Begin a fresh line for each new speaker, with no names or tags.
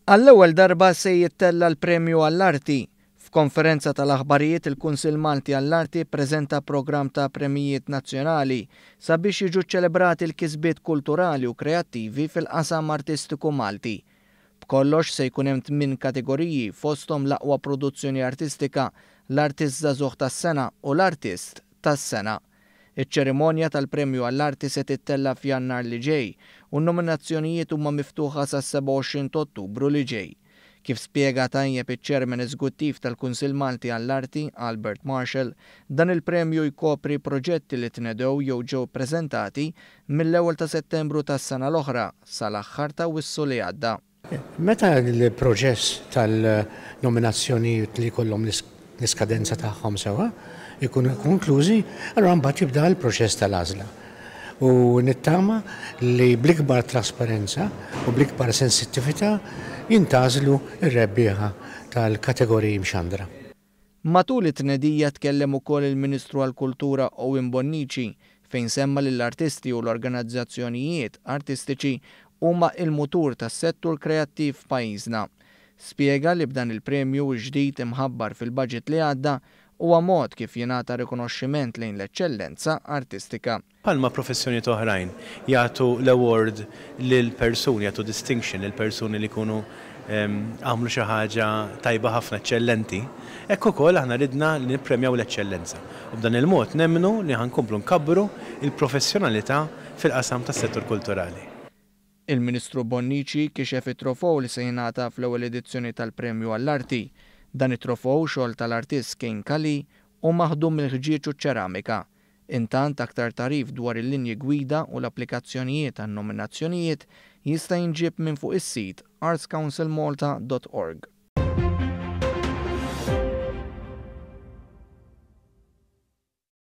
Għall-ewwel darba se jittella' l-Premju għall-Arti. F'konferenza tal-aħbarijiet il-Kunsill Malti għall-Arti ppreżenta programm ta' premjijiet nazzjonali sabiex jiġu ċċelebrati l-kisbiet kulturali u kreattivi fil-qasam artistiku Malti. B'kollox se jkun hemm tminn kategoriji fosthom l-aqwa produzzjoni artistika, l-artist żagħżugħ tas-sena u l-artist tas-sena. Iċ-ċerimonja tal-Premju għall-Arti se tittella' f'Jannar li ġej u n-nominazzjonijiet huma miftuħa sas-27 t'Ottubru li ġej. Kif spjega tajjeb iċ-Chairman Eżguttiv tal-Kunsill Malti għall-Arti, Albert Marshall, dan il-premju jkopri proġetti li tnedew jew ġew ippreżentati mill-ewwel ta' Settembru tas-sena l-oħra sal-aħħar t'Awwissu li għadda.
Meta l-proċess tal-nominazzjonijiet li jkollhom l-iskadenza tagħhom sewwa jkunu konklużi, allura mbagħad jibda l-proċess tal-għażla. U nittama li bl-ikbar trasparenza u bl-ikbar sensittività jintgħażlu r-rebbieħa tal-kategoriji mxandra.
Matul it-tnedija tkellem ukoll il-Ministru għall-Kultura Owen Bonnici fejn semma li l-artisti u l-organizzazzjonijiet artistiċi huma il-mutur tas-settur kreattiv f'pajjiżna. Spjega li b'dan il-premju ġdid imħabbar fil-budget li għadda huwa mod kif jingħata rikonoxximent lejn l-eċċellenza artistika.
Bħalma professjonijiet oħrajn jagħtu l-award lil persuni, jagħtu distinction lil persuni li jkunu għamlu xi ħaġa tajba ħafna, eċċellenti, hekk ukoll aħna ridna li nippremjaw l-eċċellenza. U b'dan il-mod nemmnu li ħa nkomplu nkabbru l-professjonalità fil-qasam tas-settur kulturali.
Il-Ministru Bonnici kixef it-trofew li se jingħata fl-ewwel edizzjoni tal-Premju għall-Arti. Dan it-trofew, xogħol tal-artist Kane Calì, hu maħdum mill-ħġieġ u ċ-ċeramika. Intant, aktar tagħrif dwar il-linji gwida u l-applikazzjonijiet għan-nominazzjonijiet jista' jinġieb minn fuq is-sit artscouncilmalta dot org.